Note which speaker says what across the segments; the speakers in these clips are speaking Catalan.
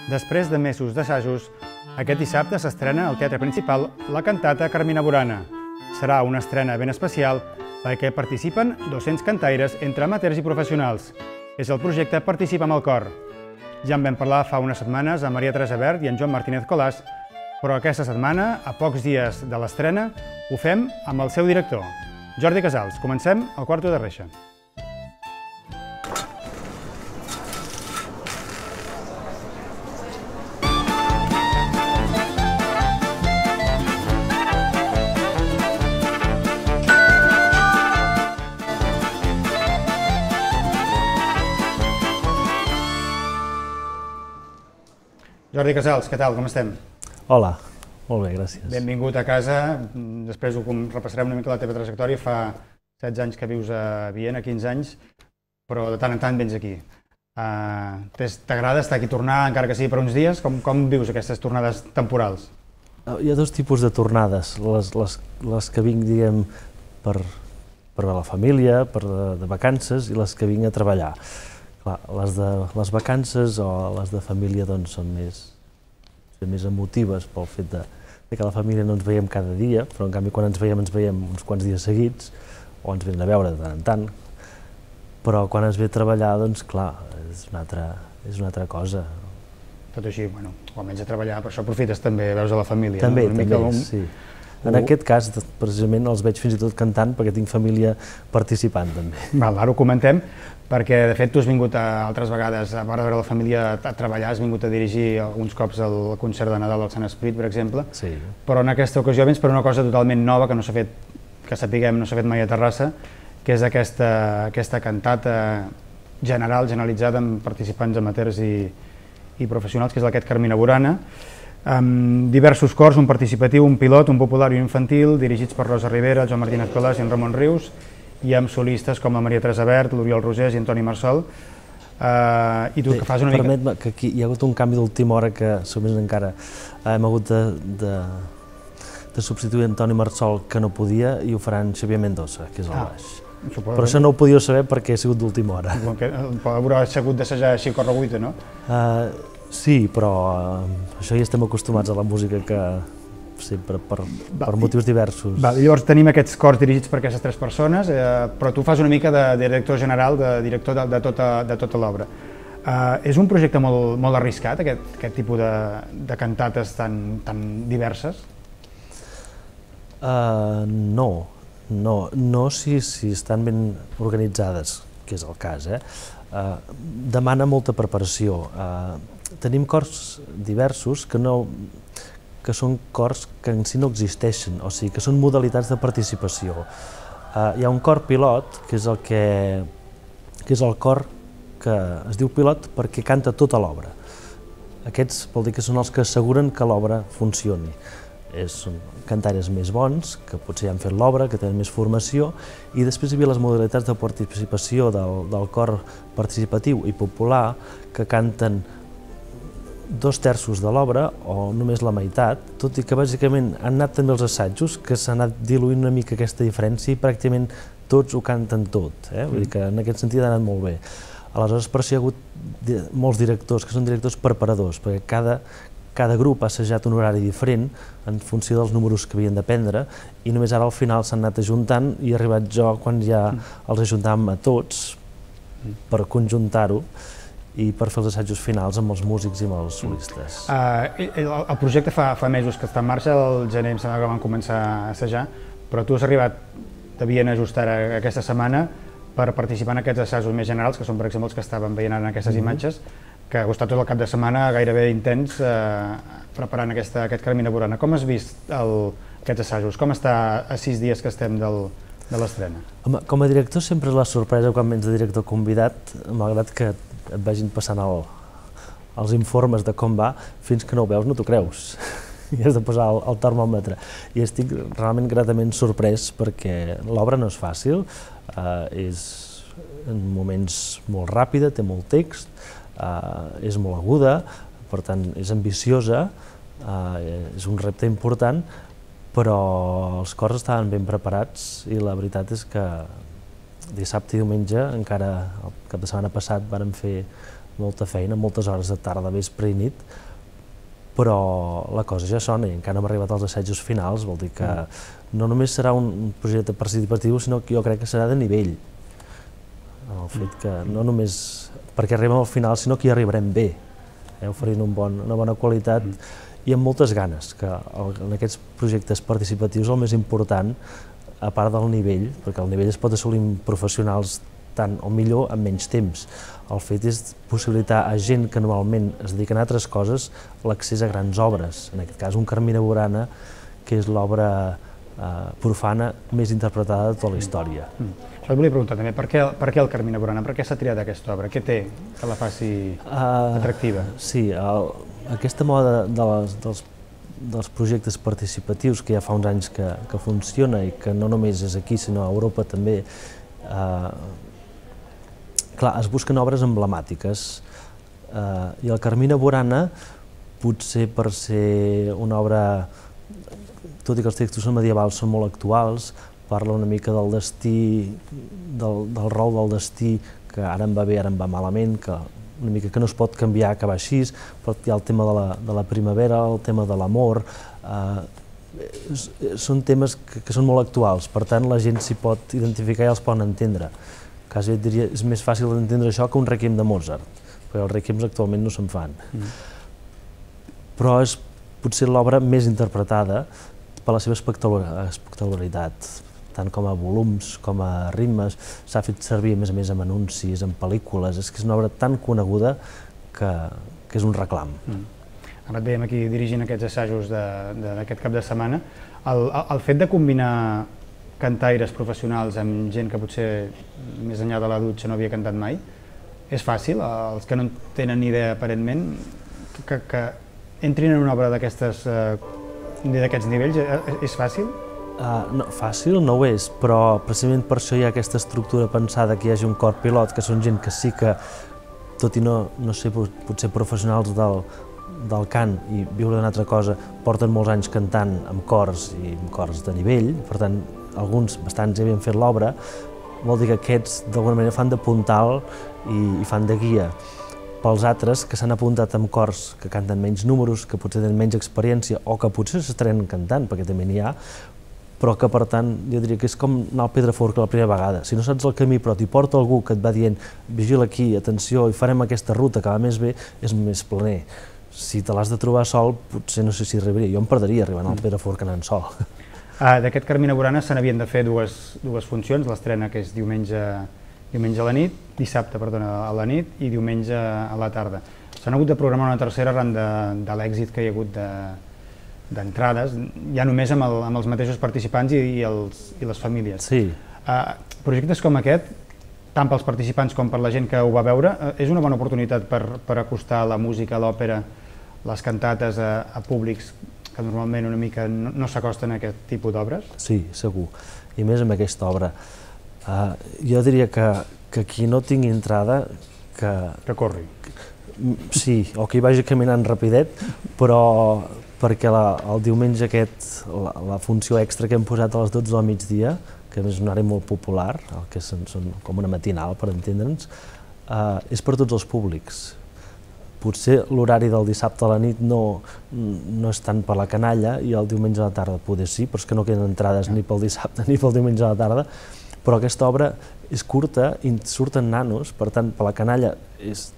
Speaker 1: Després de mesos d'assajos, aquest dissabte s'estrena al Teatre Principal la cantata Carmina Burana. Serà una estrena ben especial perquè participen 200 cantaires entre amateurs i professionals. És el projecte Participa amb el cor. Ja en vam parlar fa unes setmanes amb Maria Teresa Vert i en Joan Martínez Colàs, però aquesta setmana, a pocs dies de l'estrena, ho fem amb el seu director, Jordi Casals. Comencem al Quarto de Reixa. Jordi Casals, què tal? Com estem?
Speaker 2: Hola, molt bé, gràcies.
Speaker 1: Benvingut a casa. Després ho repassarem una mica la teva trajectòria. Fa 16 anys que vius a Viena, 15 anys, però de tant en tant vens aquí. T'agrada estar aquí, tornar, encara que sigui per uns dies? Com vius aquestes tornades temporals?
Speaker 2: Hi ha dos tipus de tornades, les que vinc, diguem, per a la família, de vacances, i les que vinc a treballar. Clar, les vacances o les de família doncs, són més emotives pel fet que la família no ens veiem cada dia, però en canvi quan ens veiem uns quants dies seguits, o ens venen a veure de tant en tant, però quan ens ve a treballar, doncs clar, és una altra cosa.
Speaker 1: Tot així, bueno, quan vens a treballar, per això aprofites també, veus a la família.
Speaker 2: També, sí. En aquest cas, precisament, els veig fins i tot cantant perquè tinc família participant també.
Speaker 1: Ara ho comentem, perquè de fet tu has vingut altres vegades, a part de veure la família a treballar, has vingut a dirigir alguns cops el concert de Nadal del Sant Esperit, per exemple, però en aquesta ocasió vens per una cosa totalment nova que no s'ha fet, que sapiguem, no s'ha fet mai a Terrassa, que és aquesta cantata generalitzada amb participants amateurs i professionals, que és aquest Carmina Burana, amb diversos cors, un participatiu, un pilot, un popular i un infantil, dirigits per Rosa Rivera, Joan Martínez Colàs i en Ramon Rius, i amb solistes com la Maria Teresa Vert, l'Oriol Rosés i Antoni Marsol. I tu que fas una mica...
Speaker 2: Permet-me que aquí hi ha hagut un canvi d'última hora que segurament encara hem hagut de substituir Antoni Marsol, que no podia, i ho faran Xavier Mendoza, que és al baix. Però això no ho podíeu saber perquè ha sigut d'última hora.
Speaker 1: Haurà hagut d'assajar així a correguita, no?
Speaker 2: Sí, però això ja estem acostumats a la música que sempre per motius diversos.
Speaker 1: Llavors tenim aquests cors dirigits per aquestes 3 persones, però tu fas una mica de director general, de director de tota l'obra. És un projecte molt arriscat, aquest tipus de cantates tan diverses?
Speaker 2: No si estan ben organitzades, que és el cas. Demana molta preparació. Tenim cors diversos que són cors que en si no existeixen, o sigui, que són modalitats de participació. Hi ha un cor pilot, que és el cor que es diu pilot perquè canta tota l'obra. Aquests vol dir que són els que asseguren que l'obra funcioni. Són cantaires més bons, que potser ja han fet l'obra, que tenen més formació, i després hi havia les modalitats de participació del cor participatiu i popular, que canten 2/3 de l'obra, o només la meitat, tot i que bàsicament han anat també els assajos, que s'ha anat diluint una mica aquesta diferència i pràcticament tots ho canten tot. Vull dir que en aquest sentit ha anat molt bé. Aleshores, per això hi ha hagut molts directors, que són directors preparadors, perquè cada grup ha assajat un horari diferent en funció dels números que havien de prendre, i només ara al final s'han anat ajuntant i he arribat jo quan ja els ajuntàvem a tots per conjuntar-ho i per fer els assajos finals amb els músics i amb els solistes.
Speaker 1: El projecte fa mesos que està en marxa, el gener em sembla que van començar a assajar, però tu has arribat de Viena just ara aquesta setmana per participar en aquests assajos més generals, que són per exemple els que estaven veient en aquestes imatges, que ha estat tot el cap de setmana gairebé intens preparant aquest Carmina Burana. Com has vist aquests assajos? Com està a 6 dies que estem de l'estrena?
Speaker 2: Com a director sempre és la sorpresa quan vens de director convidat, malgrat que et vagin passant els informes de com va, fins que no ho veus no t'ho creus i has de posar el termòmetre. I estic realment gratament sorprès perquè l'obra no és fàcil, és en moments molt ràpida, té molt text, és molt aguda, per tant és ambiciosa, és un repte important, però els cors estaven ben preparats i la veritat és que dissabte i diumenge, encara el cap de setmana passat, vàrem fer molta feina, moltes hores de tarda, vespre i nit, però la cosa ja sona i encara no hem arribat als assajos finals, vol dir que no només serà un projecte participatiu, sinó que jo crec que serà de nivell. El fet que no només perquè arribem al final, sinó que hi arribarem bé, oferint una bona qualitat i amb moltes ganes, que en aquests projectes participatius el més important, a part del nivell, perquè el nivell es pot assolir amb professionals tant o millor en menys temps. El fet és possibilitar a gent que normalment es dediquen a altres coses l'accés a grans obres, en aquest cas un Carmina Burana, que és l'obra profana més interpretada de tota la història.
Speaker 1: Això et volia preguntar també, per què el Carmina Burana? Per què s'ha triat aquesta obra? Què té que la faci atractiva?
Speaker 2: Sí, aquesta moda dels projectes participatius que ja fa uns anys que funciona i que no només és aquí sinó a Europa també, clar, es busquen obres emblemàtiques i el Carmina Burana, potser per ser una obra, tot i que els textos medievals són molt actuals, parla una mica del destí, del rol del destí, que ara em va bé, ara em va malament, que una mica que no es pot canviar, que va així, però hi ha el tema de la primavera, el tema de l'amor, són temes que són molt actuals, per tant la gent s'hi pot identificar i els pot entendre. Quasi et diria, és més fàcil d'entendre això que un requiem de Mozart, perquè els requiems actualment no se'n fan. Però és potser l'obra més interpretada per la seva espectacularitat, tant com a volums, com a ritmes, s'ha fet servir a més en anuncis, en pel·lícules, és que és una obra tan coneguda que és un reclam.
Speaker 1: Ara et veiem aquí dirigint aquests assajos d'aquest cap de setmana. El fet de combinar cantaires professionals amb gent que potser més enllà de la dutxa no havia cantat mai, és fàcil? Els que no en tenen ni idea aparentment, que entrin en una obra d'aquests nivells, és fàcil?
Speaker 2: No, fàcil no ho és, però precisament per això hi ha aquesta estructura pensada que hi hagi un cor pilot, que són gent que sí que, tot i no ser potser professionals del cant i viure d'una altra cosa, porten molts anys cantant amb cors i amb cors de nivell, per tant, alguns bastants ja havien fet l'obra, vol dir que aquests d'alguna manera fan de puntal i fan de guia. Pels altres que s'han apuntat amb cors que canten menys números, que potser tenen menys experiència o que potser s'estrenen cantant, perquè també n'hi ha, però que per tant jo diria que és com anar al Pedraforca la primera vegada. Si no saps el camí però t'hi porta algú que et va dient vigila aquí, atenció, i farem aquesta ruta que va més bé, és més planer. Si te l'has de trobar sol, potser no sé si arribaria. Jo em perdria arribant al Pedraforca anant sol.
Speaker 1: D'aquest Carmina Burana se n'havien de fer dues funcions, l'estrena que és diumenge a la nit, dissabte, perdona, a la nit i diumenge a la tarda. S'han hagut de programar una tercera arran de l'èxit que hi ha hagut d'entrades, ja només amb els mateixos participants i les famílies.
Speaker 2: Sí.
Speaker 1: Projectes com aquest, tant pels participants com per la gent que ho va veure, és una bona oportunitat per acostar la música, l'òpera, les cantates a públics que normalment una mica no s'acosten a aquest tipus d'obres?
Speaker 2: Sí, segur. I més amb aquesta obra. Jo diria que qui no tingui entrada...
Speaker 1: Que corri.
Speaker 2: Sí, o que hi vagi caminant rapidet, però perquè el diumenge aquest, la funció extra que hem posat a les 12 del migdia, que és un horari molt popular, que són com una matinal, per entendre'ns, és per tots els públics. Potser l'horari del dissabte a la nit no és tant per la canalla i el diumenge a la tarda poder sí, però és que no queden entrades ni pel dissabte ni pel diumenge a la tarda, però aquesta obra és curta i surten nanos, per tant, per la canalla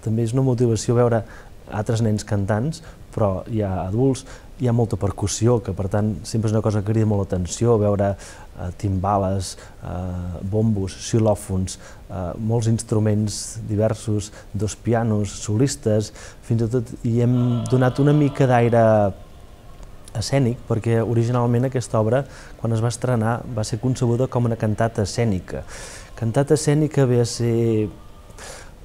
Speaker 2: també és una motivació veure altres nens cantants, però hi ha adults, hi ha molta percussió, que per tant sempre és una cosa que crida molt l'atenció, veure timbales, bombos, xilòfons, molts instruments diversos, dos pianos, solistes, fins i tot hi hem donat una mica d'aire escènic, perquè originalment aquesta obra, quan es va estrenar, va ser concebuda com una cantata escènica. Cantata escènica ve a ser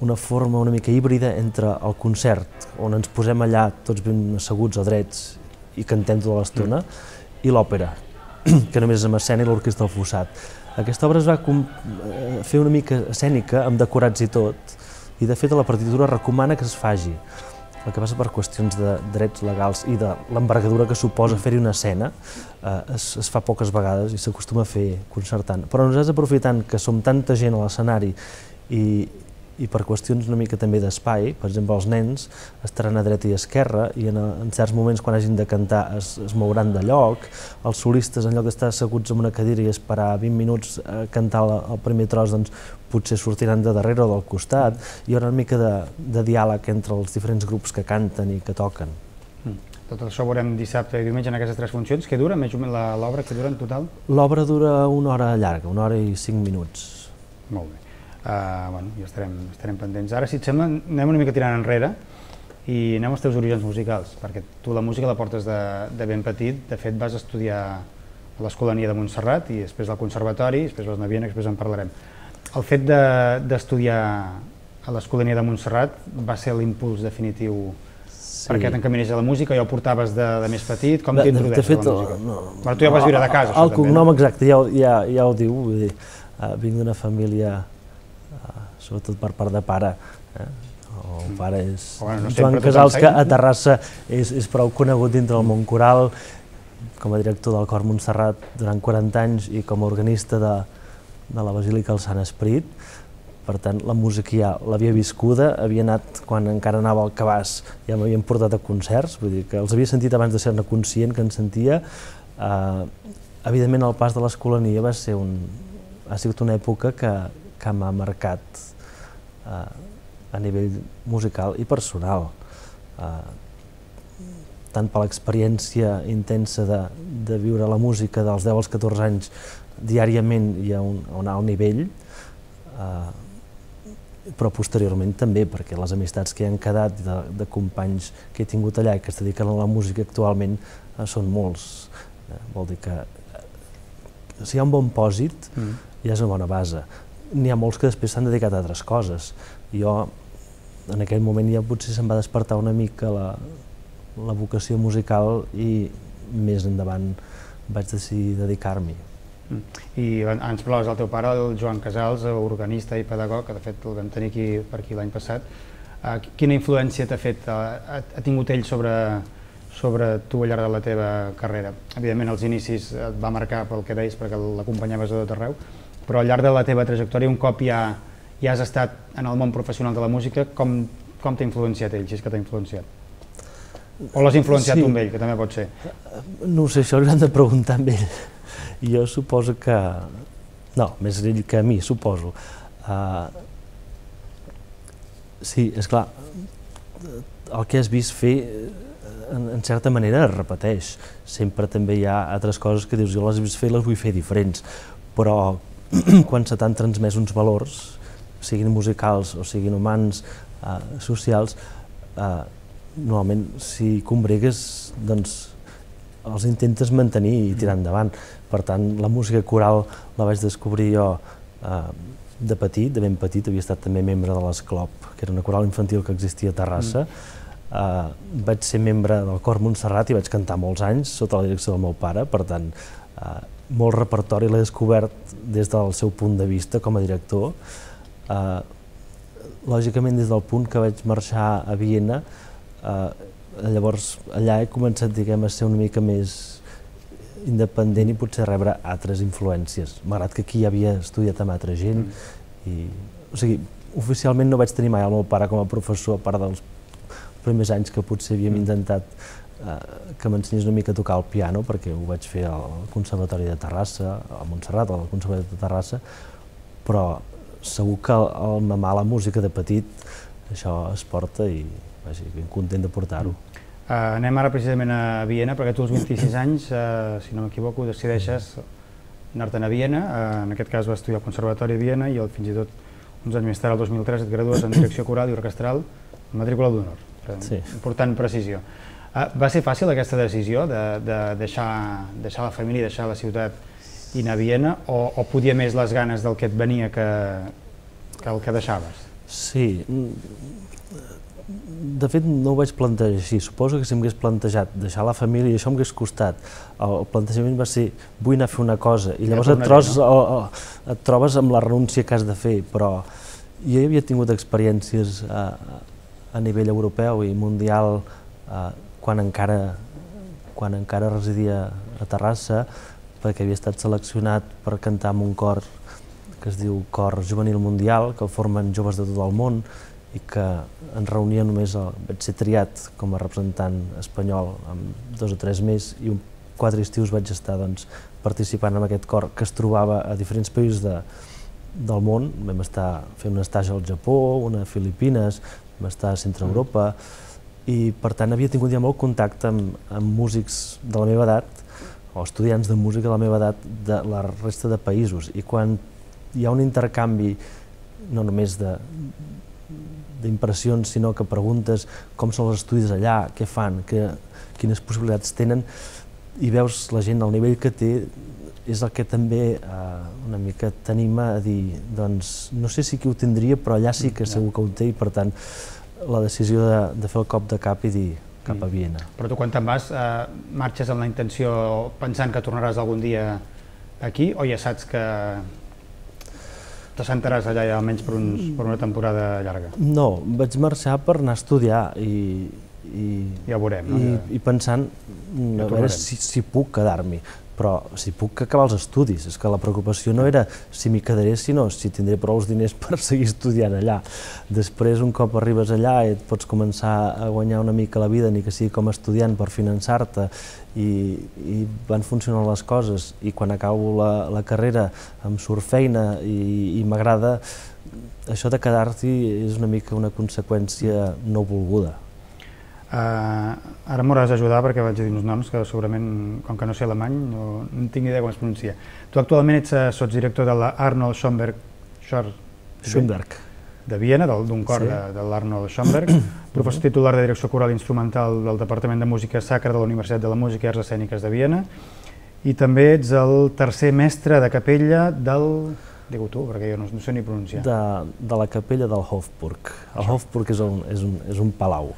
Speaker 2: una forma una mica híbrida entre el concert, on ens posem allà tots ben asseguts o drets i cantem tota l'estona, i l'òpera, que només és amb escena i l'orquestra del fossat. Aquesta obra es va fer una mica escènica, amb decorats i tot, i de fet la partitura recomana que es faci. El que passa per qüestions de drets legals i de l'envergadura que suposa fer-hi una escena, es fa poques vegades i s'acostuma a fer concertant. Però nosaltres, aprofitant que som tanta gent a l'escenari i i per qüestions una mica també d'espai, per exemple, els nens estaran a dreta i a esquerra i en certs moments quan hagin de cantar es mouran de lloc, els solistes en lloc d'estar asseguts en una cadira i esperar 20 minuts a cantar el primer tros, doncs potser sortiran de darrere o del costat, hi haurà una mica de diàleg entre els diferents grups que canten i que toquen.
Speaker 1: Tot això ho veurem dissabte i diumenge en aquestes 3 funcions. Què dura més o menys l'obra? Què dura en total?
Speaker 2: L'obra dura 1 hora llarga, 1 hora i 5 minuts.
Speaker 1: Molt bé. Bueno, ja estarem pendents. Ara, si et sembla, anem una mica tirant enrere i anem als teus orígens musicals, perquè tu la música la portes de ben petit. De fet, vas estudiar a l'Escolania de Montserrat i després al Conservatori, després vas anar a Viena, després en parlarem. El fet d'estudiar a l'Escolania de Montserrat va ser l'impuls definitiu perquè t'encaminés a la música, ja ho portaves de més petit, com t'introdueixes a la música? Però tu ja vas viure de casa, això també.
Speaker 2: El cognom exacte ja ho diu, vull dir, vinc d'una família, sobretot per part de pare, el pare és Joan Casals, que a Terrassa és prou conegut dintre del món coral, com a director del Cor Montserrat durant 40 anys i com a organista de la Basílica del Sant Esperit. Per tant, la música ja l'havia viscuda, havia anat, quan encara anava al cabàs, ja m'havien portat a concerts, vull dir que els havia sentit abans de ser-ne conscient que en sentia. Evidentment, el pas de l'Escolania ha sigut una època que m'ha marcat a nivell musical i personal, tant per l'experiència intensa de viure la música dels 10 als 14 anys diàriament i a un alt nivell, però posteriorment també, perquè les amistats que hi han quedat de companys que he tingut allà i que es dediquen a la música actualment són molts. Vol dir que si hi ha un bon pòsit ja és una bona base. N'hi ha molts que després s'han dedicat a altres coses. Jo, en aquell moment, ja potser se'm va despertar una mica la vocació musical i més endavant vaig decidir dedicar-m'hi.
Speaker 1: I ens parlaves del teu pare, el Joan Casals, organista i pedagog, que de fet el vam tenir per aquí l'any passat. Quina influència t'ha fet, ha tingut ell sobre tu al llarg de la teva carrera? Evidentment els inicis et va marcar pel que deies perquè l'acompanyaves a tot arreu, però al llarg de la teva trajectòria, un cop ja has estat en el món professional de la música, com t'ha influenciat ell, si és que t'ha influenciat? O l'has influenciat tu amb ell, que també pot ser?
Speaker 2: No ho sé, això hauríem de preguntar amb ell. Jo suposo que... No, més ell que a mi, suposo. Sí, esclar, el que has vist fer, en certa manera, es repeteix. Sempre també hi ha altres coses que dius, jo les he vist fer i les vull fer diferents, però quan se t'han transmès uns valors, siguin musicals o siguin humans, socials, normalment, si combregues, doncs els intentes mantenir i tirar endavant. Per tant, la música coral la vaig descobrir jo de petit, de ben petit, havia estat també membre de l'Esclop, que era una coral infantil que existia a Terrassa. Vaig ser membre del Cor Montserrat i vaig cantar molts anys sota la direcció del meu pare, per tant, molt repertori l'he descobert des del seu punt de vista com a director. Lògicament, des del punt que vaig marxar a Viena, llavors allà he començat, diguem, a ser una mica més independent i potser rebre altres influències, malgrat que aquí ja havia estudiat amb altra gent. O sigui, oficialment no vaig tenir mai el meu pare com a professor, a part dels primers anys que potser havíem intentat que m'ensenyés una mica a tocar el piano, perquè ho vaig fer al Conservatori de Terrassa, a Montserrat, al Conservatori de Terrassa, però segur que al mamar la música de petit això es porta i ben content de portar-ho.
Speaker 1: Anem ara precisament a Viena, perquè tu als 26 anys, si no m'equivoco, decideixes anar-te'n a Viena, en aquest cas vas estudiar al Conservatori a Viena i fins i tot uns anys més tard, el 2003, et gradues en direcció coral i orquestral amb matrícula d'honor. Important precisió. Va ser fàcil aquesta decisió de deixar la família, deixar la ciutat i anar a Viena, o podia més les ganes del que et venia que el que deixaves?
Speaker 2: Sí, de fet no ho vaig plantejar així. Suposo que si m'hagués plantejat deixar la família i això m'hagués costat. El plantejament va ser vull anar a fer una cosa i llavors et trobes amb la renúncia que has de fer, però jo havia tingut experiències a nivell europeu i mundial quan encara residia a Terrassa, perquè havia estat seleccionat per cantar en un cor que es diu Cor Juvenil Mundial, que el formen joves de tot el món i que en reunia només vaig ser triat com a representant espanyol amb 2 o 3 més i 4 estius vaig estar participant en aquest cor que es trobava a diferents països del món. Vam estar fent un estatge al Japó, una a Filipines, vam estar a Centre Europa i per tant havia tingut ja molt contacte amb músics de la meva edat o estudiants de música de la meva edat de la resta de països i quan hi ha un intercanvi no només d'impressions, sinó que preguntes com són els estudis allà, què fan, quines possibilitats tenen, i veus la gent al nivell que té, és el que també una mica t'anima a dir, doncs, no sé si qui ho tindria, però allà sí que segur que ho té, i per tant, la decisió de fer el cop de cap i dir cap a Viena.
Speaker 1: Però tu quan te'n vas, marxes amb la intenció pensant que tornaràs algun dia aquí, o ja saps que t'assentaràs allà ja almenys per una temporada llarga?
Speaker 2: No, vaig marxar per anar a estudiar i
Speaker 1: ja ho veurem, no?
Speaker 2: I pensant a veure si puc quedar-m'hi, però si puc acabar els estudis. És que la preocupació no era si m'hi quedaré, sinó si tindré prou diners per seguir estudiant allà. Després, un cop arribes allà, et pots començar a guanyar una mica la vida, ni que sigui com a estudiant, per finançar-te, i van funcionant les coses. I quan acabo la carrera em surt feina i m'agrada, això de quedar-t'hi és una mica una conseqüència no volguda.
Speaker 1: Ara m'hauràs d'ajudar perquè vaig a dir uns noms que segurament, com que no sé alemany, no tinc idea com es pronuncia. Tu actualment ets sotsdirector de l'Arnold Schoenberg de Viena, d'un cor de l'Arnold Schoenberg, professor titular de direcció coral i instrumental del Departament de Música Sacra de la Universitat de la Música i Arts Escèniques de Viena, i també ets el tercer mestre de capella del... Digue-ho tu, perquè jo no sé ni pronunciar.
Speaker 2: De la capella del Hofburg. El Hofburg és un palau.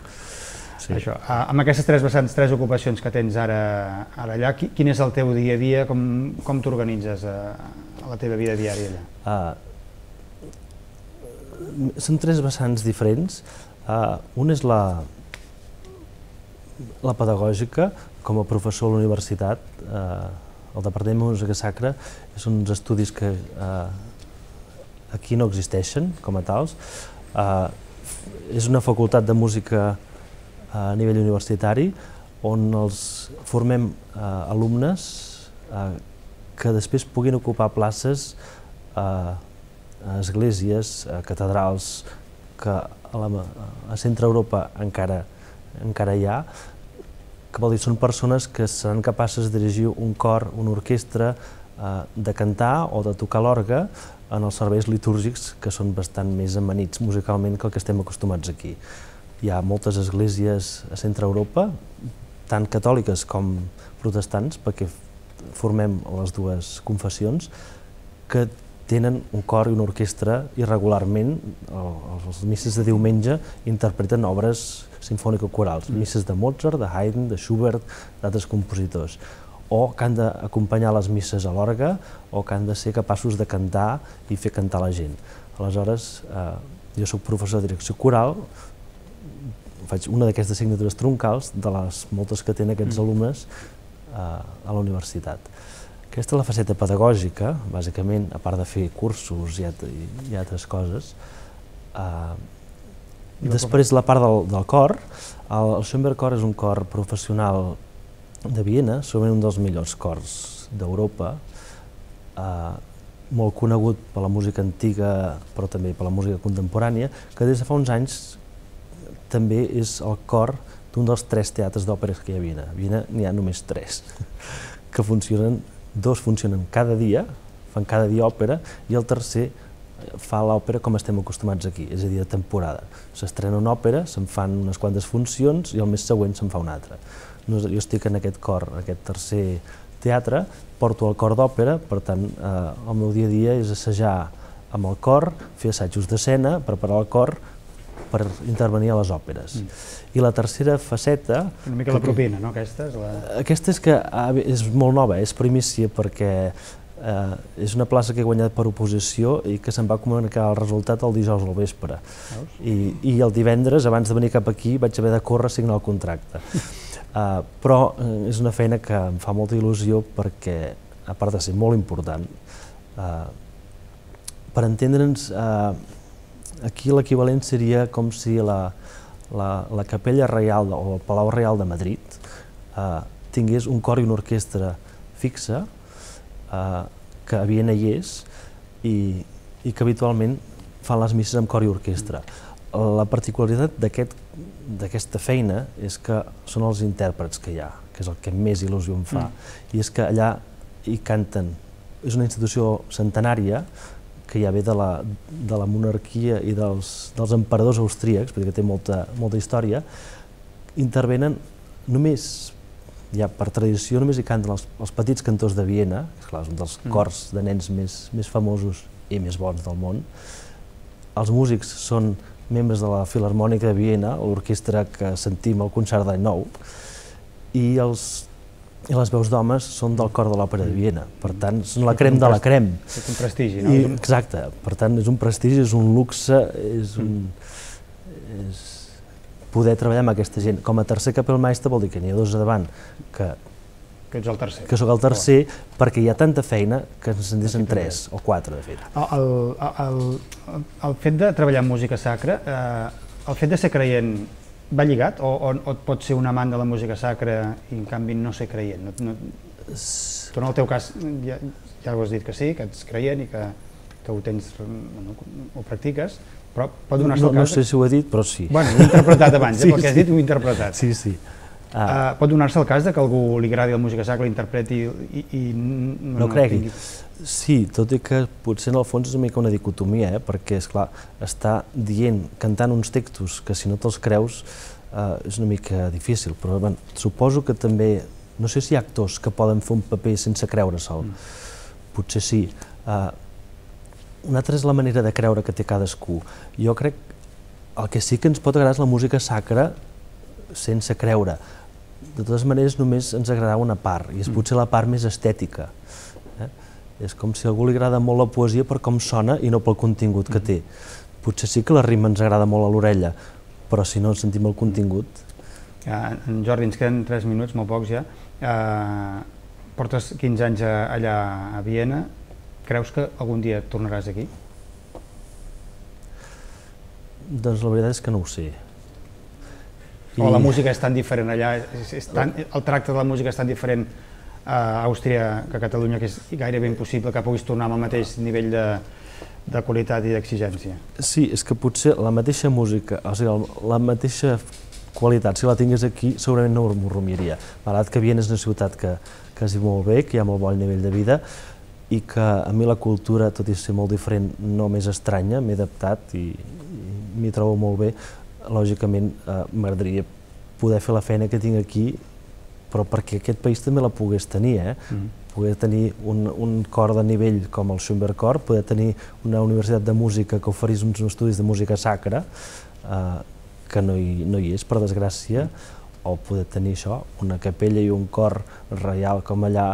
Speaker 1: Això. Amb aquestes tres vessants, tres ocupacions que tens ara allà, quin és el teu dia a dia, com t'organitzes a la teva vida diària allà?
Speaker 2: Són tres vessants diferents. Un és la pedagògica, com a professor a la universitat. El Departament de Música Sacra són uns estudis que aquí no existeixen com a tals. És una facultat de música a nivell universitari, on els formem alumnes que després puguin ocupar places a esglésies, a catedrals, que a Centre Europa encara hi ha, que vol dir són persones que seran capaces de dirigir un cor, una orquestra, de cantar o de tocar l'orgue en els serveis litúrgics que són bastant més amanits musicalment que el que estem acostumats aquí. Hi ha moltes esglésies a Centre Europa, tant catòliques com protestants, perquè formem les dues confessions, que tenen un cor i una orquestra i regularment, les misses de diumenge, interpreten obres simfònico-corals, misses de Mozart, de Haydn, de Schubert, d'altres compositors, o que han d'acompanyar les misses a l'orgue, o que han de ser capaços de cantar i fer cantar la gent. Aleshores, jo soc professor de direcció coral, faig una d'aquestes assignatures troncals de les moltes que tenen aquests alumnes a la universitat. Aquesta és la faceta pedagògica, bàsicament, a part de fer cursos i altres coses. Després, la part del cor. El Schoenberg Cor és un cor professional de Viena, segurament un dels millors cors d'Europa, molt conegut per la música antiga, però també per la música contemporània, que des de fa uns anys també és el cor d'un dels 3 teatres d'òperes que hi ha a Viena. A Viena n'hi ha només 3, que funcionen, 2 funcionen cada dia, fan cada dia òpera, i el tercer fa l'òpera com estem acostumats aquí, és a dir, de temporada. S'estrena una òpera, se'n fan unes quantes funcions i el mes següent se'n fa una altra. Jo estic en aquest cor, en aquest tercer teatre, porto el cor d'òpera, per tant, el meu dia a dia és assajar amb el cor, fer assajos d'escena, preparar el cor per intervenir a les òperes. I la tercera faceta...
Speaker 1: Una mica la propina, no, aquesta?
Speaker 2: Aquesta és molt nova, és primícia, perquè és una plaça que he guanyat per oposició i que se'n va comunicar el resultat el dijous al vespre. I el divendres, abans de venir cap aquí, vaig haver de córrer a signar el contracte. Però és una feina que em fa molta il·lusió perquè, a part de ser molt important, per entendre'ns, aquí l'equivalent seria com si la Capella Reial o el Palau Reial de Madrid tingués un cor i una orquestra fixa, que a Viena hi és, i que habitualment fan les misses amb cor i orquestra. La particularitat d'aquesta feina és que són els intèrprets que hi ha, que és el que més il·lusió em fa, i és que allà hi canten. És una institució centenària que ja ve de la monarquia i dels emperadors austríacs, perquè té molta història. Intervenen només, ja per tradició, només hi canten els petits cantors de Viena, és clar, és un dels cors de nens més famosos i més bons del món. Els músics són membres de la Filharmònica de Viena, l'orquestra que sentim al concert d'Any Nou, i les veus d'homes són del cor de l'Òpera de Viena. Per tant, són la crem de la crem.
Speaker 1: És un prestigi, no?
Speaker 2: Exacte. Per tant, és un prestigi, és un luxe, és poder treballar amb aquesta gent. Com a tercer capellmeister vol dir que n'hi ha dos a davant que
Speaker 1: ets el tercer.
Speaker 2: Que sóc el tercer, perquè hi ha tanta feina que ens en deixen 3 o 4, de fet.
Speaker 1: El fet de treballar en música sacra, el fet de ser creient va lligat o et pot ser un amant de la música sacra i en canvi no ser creient? Tu en el teu cas ja ho has dit que sí, que ets creient i que ho practiques, però pot donar-se el cas...
Speaker 2: No sé si ho he dit, però sí.
Speaker 1: Bueno, ho he interpretat abans, pel que has dit ho he interpretat.
Speaker 2: Sí, sí.
Speaker 1: Pot donar-se el cas que algú li agradi la música sacra, l'interpreti i
Speaker 2: no cregui. Sí, tot i que potser en el fons és una mica una dicotomia, perquè, esclar, està dient, cantant uns textos que si no te'ls creus és una mica difícil, però suposo que també, no sé si hi ha actors que poden fer un paper sense creure-se'l, potser sí. Una altra és la manera de creure que té cadascú. Jo crec que el que sí que ens pot agradar és la música sacra sense creure. De totes maneres, només ens agradarà una part, i és potser la part més estètica. És com si a algú li agrada molt la poesia per com sona i no pel contingut que té. Potser sí que la rima ens agrada molt a l'orella, però si no sentim el contingut...
Speaker 1: En Jordi, ens queden 3 minuts, molt pocs ja. Portes 15 anys allà a Viena. Creus que algun dia tornaràs aquí?
Speaker 2: Doncs la veritat és que no ho sé.
Speaker 1: O la música és tan diferent allà, el tracte de la música és tan diferent a Àustria que a Catalunya que és gairebé impossible que puguis tornar amb el mateix nivell de qualitat i d'exigència.
Speaker 2: Sí, és que potser la mateixa música, o sigui, la mateixa qualitat, si la tingués aquí, segurament no m'ho rumiaria. Malgrat que Viena és una ciutat que es viu molt bé, que hi ha molt bon nivell de vida, i que a mi la cultura, tot i ser molt diferent, no m'és estranya, m'he adaptat i m'hi trobo molt bé. Lògicament m'agradaria poder fer la feina que tinc aquí, però perquè aquest país també la pogués tenir, poder tenir un cor de nivell com el Schönberg Cor, poder tenir una universitat de música que oferís uns estudis de música sacra, que no hi és, per desgràcia, o poder tenir això, una capella i un cor reial com allà,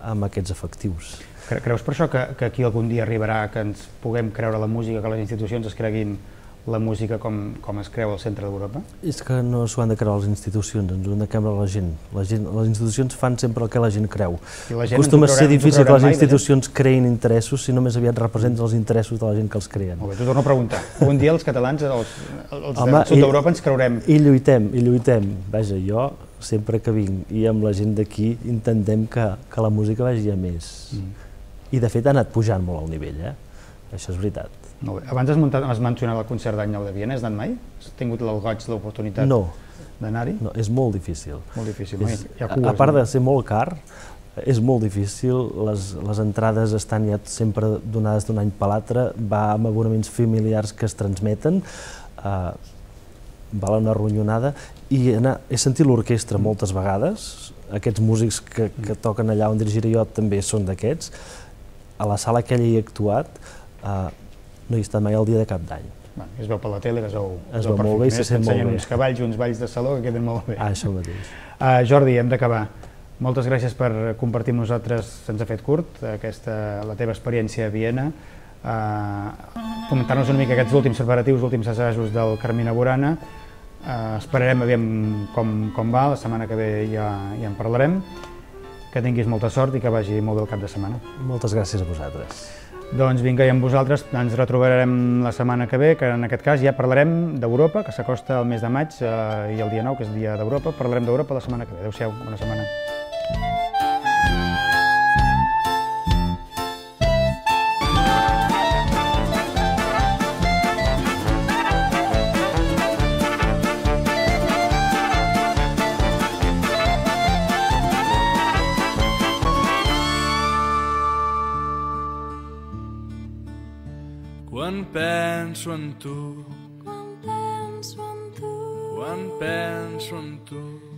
Speaker 2: amb aquests efectius.
Speaker 1: Creus per això que aquí algun dia arribarà que ens puguem creure la música, que les institucions es creguin la música com es creu al centre d'Europa?
Speaker 2: És que no s'ho han de creure les institucions, ens ho han de creure la gent. Les institucions fan sempre el que la gent creu. Acostuma a ser difícil que les institucions creïn interessos si només aviat representen els interessos de la gent que els creen.
Speaker 1: Molt bé, t'ho torno a preguntar. Un dia els catalans, els del sud d'Europa ens creurem...
Speaker 2: I lluitem. Vaja, jo sempre que vinc i amb la gent d'aquí intentem que la música vagi a més. I de fet ha anat pujant molt el nivell, això és veritat.
Speaker 1: Molt bé. Abans has mencionat el concert d'Any Nou de Viena, has anat mai? Has tingut el goig, l'oportunitat d'anar-hi?
Speaker 2: No, és molt difícil.
Speaker 1: Molt difícil,
Speaker 2: a part de ser molt car, és molt difícil, les entrades estan ja sempre donades d'un any per l'altre, va amb abonaments familiars que es transmeten, val una ronyonada, i he sentit l'orquestra moltes vegades, aquests músics que toquen allà on dirigiré jo també són d'aquests, a la sala aquella hi he actuat, no hi he estat mai el dia de Cap d'Any.
Speaker 1: Es veu per la tele, es veu
Speaker 2: molt bé i se sent molt bé.
Speaker 1: T'ensenyen uns cavalls, uns balls de saló que queden molt bé.
Speaker 2: Això mateix.
Speaker 1: Jordi, hem d'acabar. Moltes gràcies per compartir amb nosaltres, se'ns ha fet curt, la teva experiència a Viena, comentar-nos una mica aquests últims preparatius, últims assajos del Carmina Burana. Esperarem a veure com va, la setmana que ve ja en parlarem. Que tinguis molta sort i que vagi molt bé el cap de setmana.
Speaker 2: Moltes gràcies a vosaltres.
Speaker 1: Doncs vinga, i amb vosaltres ens retrobarem la setmana que ve, que en aquest cas ja parlarem d'Europa, que s'acosta el mes de maig i el dia 9, que és el dia d'Europa. Parlarem d'Europa la setmana que ve. Adéu-siau, bona setmana.
Speaker 3: Quan penso en tu,
Speaker 4: quan penso en tu,
Speaker 3: quan penso en tu,